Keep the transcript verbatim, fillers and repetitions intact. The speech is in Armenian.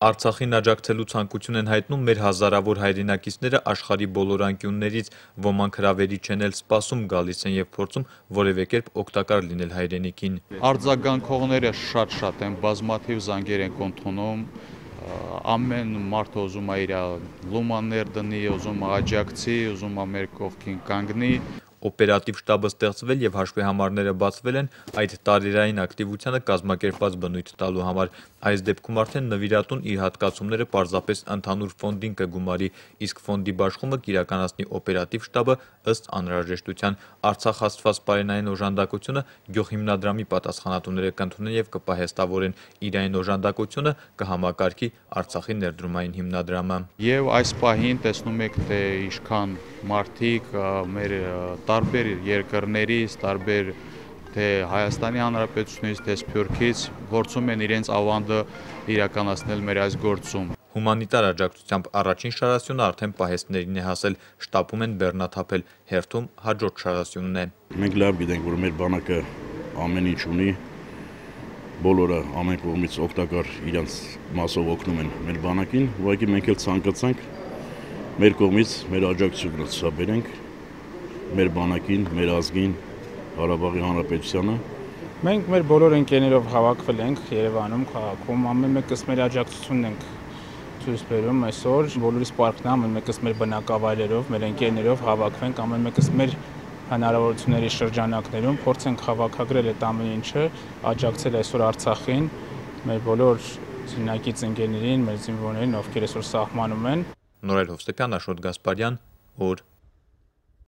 Արցախին աջակցելու ցանկություն են հայտնում մեր հազարավոր հայրենակիցները աշխարհի բոլոր անկյուններից, ոմանք հրավերի չեն էլ սպասում, գալիս են եւ փորձում որևէ կերպ օգտակար լինել հայրենիքին։ Արձագանքողները շատ-շատ են, բազմաթիվ զանգեր են ընդունում, ամեն մարդ ուզում է իր լումաններ դնի, ուզում է աջակցի, ուզում է մեր կողքին կանգնի։ Օպերատիվ շտաբը ստեղծվել եւ հաշվեհամարները բացվել են այդ տարերային ակտիվությանը կազմակերպված բնույթ տալու համար։ Այս դեպքում արդեն նվիրատուն իր հատկացումները պարզապես ընդհանուր ֆոնդին կգումարի, իսկ ֆոնդի բաշխումը կիրականացնի օպերատիվ շտաբը ըստ անհրաժեշտության։ Արցախ հասցված պարենային օժանդակությունը գյուղհիմնադրամի պատասխանատուները կընդունեն եւ կպահեստավորեն, իրային օժանդակությունը կհամակարգի Արցախի ներդրումային հիմնադրամը։ Եվ այս պահին տեսնում եք, թե ինչքան մարդիկ մեր տարբեր երկրներից, տարբեր թե Հայաստանի Հանրապետությունից, թե Սփյուռքից փորձում են իրենց ավանդը իրականացնել մեր այս գործում։ Հումանիտար աջակցությամբ առաջին շարասյունը արդեն պահեստներին է հասել, շտապում են բեռնաթափել, հերթում հաջորդ շարասյունն է։ Մենք լավ գիտենք, որ մեր բանակը ամեն ինչ ունի, բոլորը ամեն կողմից օգտակար իրենց մասով օգնում են մեր բանակին, ուղղակի մենք էլ ցանկացանք մեր կողմից մեր աջակցությունը ցուցաբերենք մեր բանակին, մեր ազգին, Ղարաբաղի Հանրապետությանը։ Մենք մեր բոլոր ընկերներով հավաքվել ենք Երևանում, քաղաքում, ամեն մեկս մեր աջակցությունն ենք ցույց բերում այսօր, բոլորիս պարտքն է ամեն մեկս մեր բնակավայրերով, մեր ընկերներով հավաքվենք, ամեն մեկս մեր հնարավորությունների շրջանակներում փորձենք հավաքագրել այդ ամեն ինչը, աջակցել այսօր Արցախին, մեր բոլոր զինակից ընկերներին, մեր զինվորներին, ովքեր այսօր սահմանում են։ Նորայր Հովսեփյան, Աշոտ Գասպարյան, օր